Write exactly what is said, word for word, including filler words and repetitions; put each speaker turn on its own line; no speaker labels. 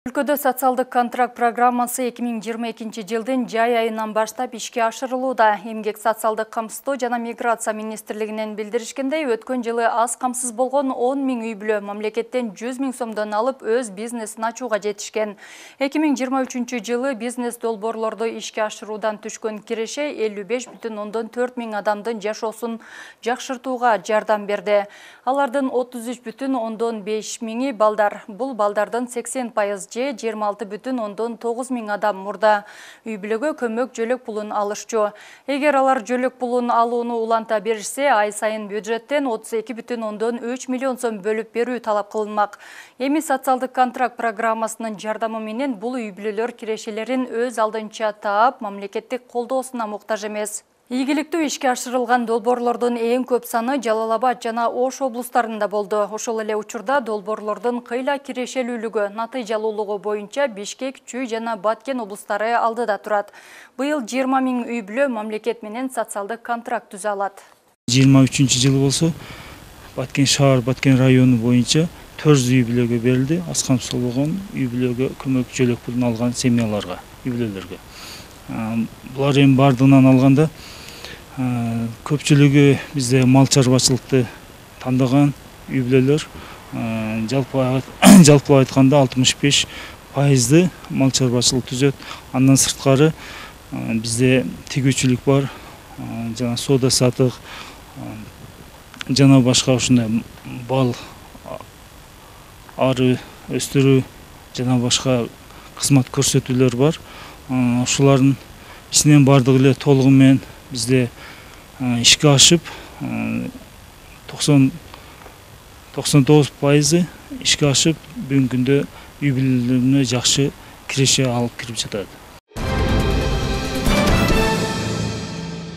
Өлкөдө социалдык контракт программасы эки миң жыйырма экинчи жылдын жай айынан баштап ишке ашырылууда. Эмгек социалдык камсыздоо жана миграция министрлигинен билдиришкендей, өткөн жылы аз камсыз болгон он миң үй бүлө мамлекеттен жүз миң сомдон алып өз бизнесин ачууга жетишкен. эки миң жыйырма үчүнчү жылы бизнес долбоорлорду ишке ашыруудан түшкөн киреше элүү беш бүтүн ондон төрт миң адамдын жашоосун жакшыртууга жардам берди. Алардын отуз үч бүтүн ондон беш миңи балдар. Бул балдардын сексен пайыз же жыйырма алты бүтүн ондон тогуз миң адам мурда үй бүлөгө көмөк жөлөк пулун алышчу. Эгер алар жөлөк пулун алууну уланта беришсе, ай сайын бюджеттен отуз эки бүтүн ондон үч миллион сом бөлүп берүү талап кылынмак. Эми социалдык контракт программасынын жардамы менен бул үй бүлөлөр кирешелерин өз алдынча таап, мамлекеттик колдоосуна муктаж эмес. Ийгиликтүү ишке ашырылган долбоорлордун эң көп саны Жалал Абад жана Ош облустарында болду. Ошол эле учурда долбоорлордун кыйла кирешелүүлүгү, натыйжалуулугу боюнча Бишкек, Чүй жана Баткен облустары алдыда турат. Быйыл жыйырма миң үй бүлө мамлекет менен социалдык контракт түзө алат.
жыйырма үчүнчү жылы болсо Баткен шаар, Баткен району боюнча төрт жүз үй бүлөгө берилди. Аз камсыз болгон үй бүлөгө көмөк жөлөк пулун алган семьяларга, үй бүлөлөргө. Булар эми бардыгынан алганда көпчүлүгү бизде мал чарбачылыкты тандаган үй бүлөлөр. Жалпылап айтканда алтымыш беш пайызды мал чарбачылык түзөт. Андан сырткары бизде тигүүчүлүк бар, жана соода сатык, жана башка ушундай бал ары өстүрүү жана башка кызмат көрсөтүүлөр бар. Ушулардын ичинен бардыгы эле толугу менен бизде ишке ашып, токсон тогуз пайызы ишке ашып, бүгүнкү күндө үй бүлөлөрүнө жакшы киреше алып кирип жатат.